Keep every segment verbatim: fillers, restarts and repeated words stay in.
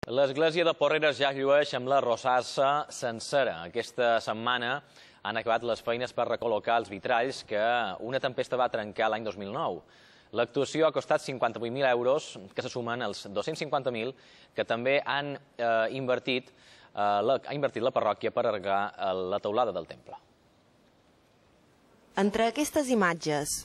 L'església de Porreres ja llueix amb la rosassa sencera. Aquesta setmana han acabat les feines per recol·locar els vitralls que una tempesta va trencar l'any dos mil nou. L'actuació ha costat cinquanta-vuit mil euros, que se sumen als dos-cents cinquanta mil que també han eh, invertit, eh, la, ha invertit la parròquia per arreglar la teulada del temple. Entre aquestes imatges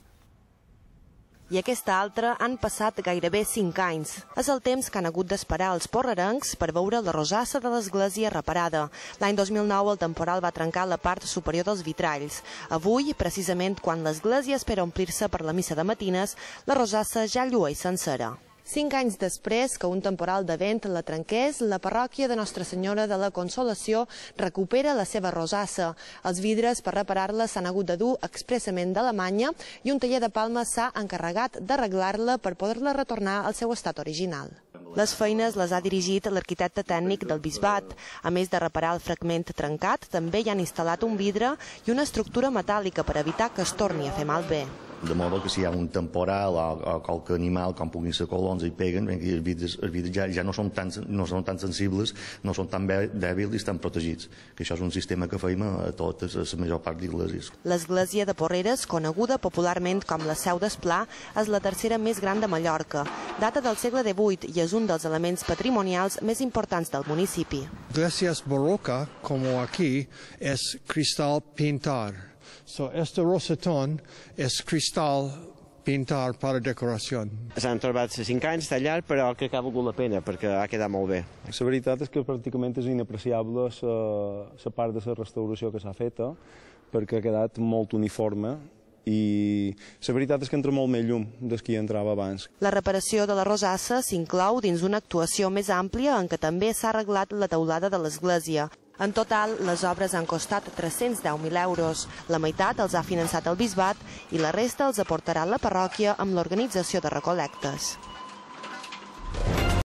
i aquesta altra han passat gairebé cinc anys. És el temps que han hagut d'esperar els porrerencs per veure la rosassa de l'església reparada. L'any dos mil nou el temporal va trencar la part superior dels vitralls. Avui, precisament quan l'església espera omplir-se per la missa de matines, la rosassa ja llueix sencera. Cinc anys després que un temporal de vent la trenqués, la parròquia de Nostra Senyora de la Consolació recupera la seva rosassa. Els vidres per reparar-la s'han hagut de dur expressament d'Alemanya i un taller de Palma s'ha encarregat d'arreglar-la per poder-la retornar al seu estat original. Les feines les ha dirigit l'arquitecte tècnic del bisbat. A més de reparar el fragment trencat, també hi han instal·lat un vidre i una estructura metàl·lica per evitar que es torni a fer malbé. De modo que si hi ha un temporal o, o qualque animal, com puguin ser colons, i peguen, els vidres, els vidres ja, ja no, són tan, no són tan sensibles, no són tan dèbils i estan protegits. Que això és un sistema que feim a totes, a la major part d'esglésies. L'església de Porreres, coneguda popularment com la Seu d'Esplà, és la tercera més gran de Mallorca. Data del segle divuit i és un dels elements patrimonials més importants del municipi. Iglesias barroca, como aquí, es cristal pintar. So, este rosetón és cristal pintar per a decoració. S'han trobat cinc anys tallar, però crec que ha valgut la pena, perquè ha quedat molt bé. La veritat és que pràcticament és inapreciable la part de la restauració que s'ha feta, perquè ha quedat molt uniforme i la veritat és que entra molt més llum des que hi entrava abans. La reparació de la rosassa s'inclou dins una actuació més àmplia en què també s'ha arreglat la teulada de l'església. En total, les obres han costat tres-cents deu mil euros. La meitat els ha finançat el bisbat i la resta els aportarà la parròquia amb l'organització de recol·lectes.